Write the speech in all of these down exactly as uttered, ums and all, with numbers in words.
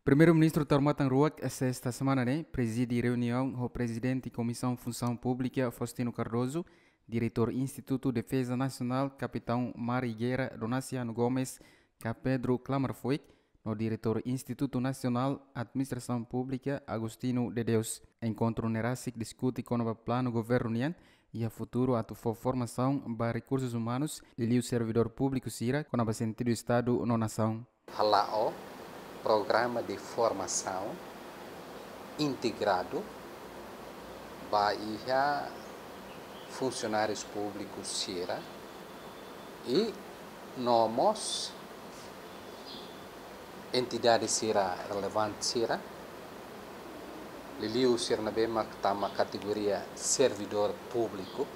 Primeiru-Ministru Taur Matan Ruak, sesta semana ne'e, prezide reuniaun ho Prezidente Komisaun Funsaun Públika, Faustino Cardoso, Diretór Institutu Defeza Nasionál, Kapitaun Mar i Guerra, Donaciano Gomes, ka Pedro Klammerfoig, no Diretór Institutu Nasionál Administrasaun Públika, Agostinho de Deus. Enkontru ne'e rasik diskute kona-ba planu governu nian iha futuru atu fó formasaun ba rekursus umanus, liuliu servidór públiku sira, kona-ba sentidu Estadu no nasaun. Hala'o programa de formasaun integradu ba iha funsionárius públikus sira i no mós entidade sira relevante sira, liuliu sira ne'ebé mak tama kategoria servidór públiku,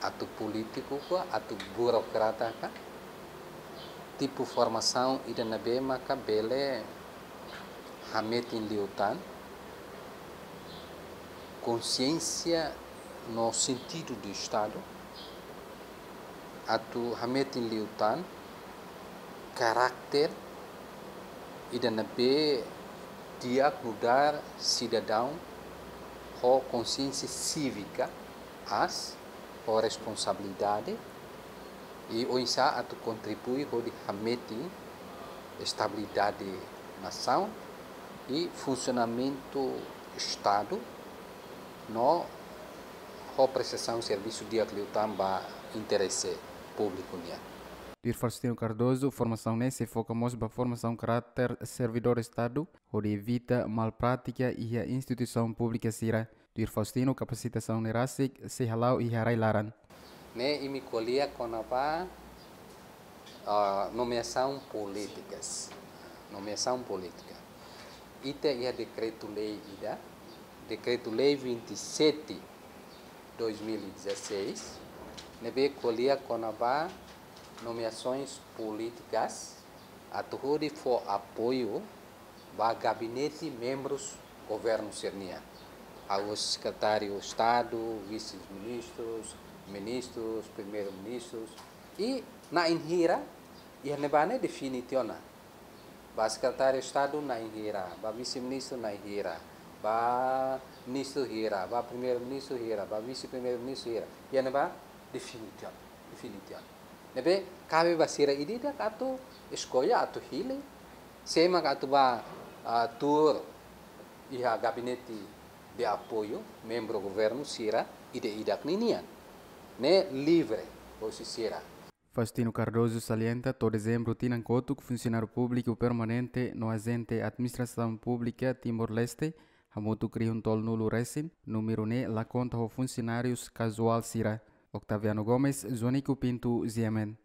atu polítiku ka, atu burokrata ka, tipu formasaun ida ne'ebé maka bele hametin liután konsiénsia no sentidu de Estadu, atu hametin liután karakter ida ne'ebé di'ak nu'udar sidadaun ho konsiénsia sívika aas, ho responsabilidade, i oinsá atu kontribui hodi hametin estabilidade nasaun i funsionamentu Estadu, no ho prestasaun servisu di'ak liután ba interese públiku nian. Tuir Faustino Cardoso, formasaun ne'e sei foka mós ba formasaun karáter servidór Estadu, hodi evita mal prátika iha instituisaun públika sira. Tuir Faustino, kapasitasaun ne'e rasik sei hala'o iha rai-laran. Ne'e imi ko'alia kona-ba, ah, nomeasaun polítikas. Nomeasaun polítika. Ita iha dekretu-lei ida, dekretu-lei vinte e sete, dois mil e dezasseis, ne'ebé ko'alia kona-ba nomeasoens polítikas, atu hodi fó apoiu ba gabinete membrus governu sira-nian. Ha'u sekretáriu Estadu, vise-ministrus, ministrus, primeiru-ministrus, i na'in hira, iha ne'ebá ne'e define tiha ona. Ba sekretáriu Estadu na'in hira, ba vise-ministru na'in hira, ba ministru hira, ba primeiru-ministru hira, ba vise-primeiru-ministru hira. Iha ne'ebá define tiha ona, define tiha ona. Ne'ebé kabe ba sira ida-idak atu eskolla, atu hili, sé mak atu bá, ah, tuur iha gabinete de apoiu, membru governu sira ida-idak ninian. Ne'e livre, husi sira. Faustino Cardoso salienta to'o dezembru tinan kotuk, funsionáriu públiku permanente no ajente administrasaun públika Timor-Leste hamutuk rihun tolunulu resin, númeru ne'e la konta ho funsionárius kazuál sira. Octaviano Gomes, Joanico Pinto, G M N.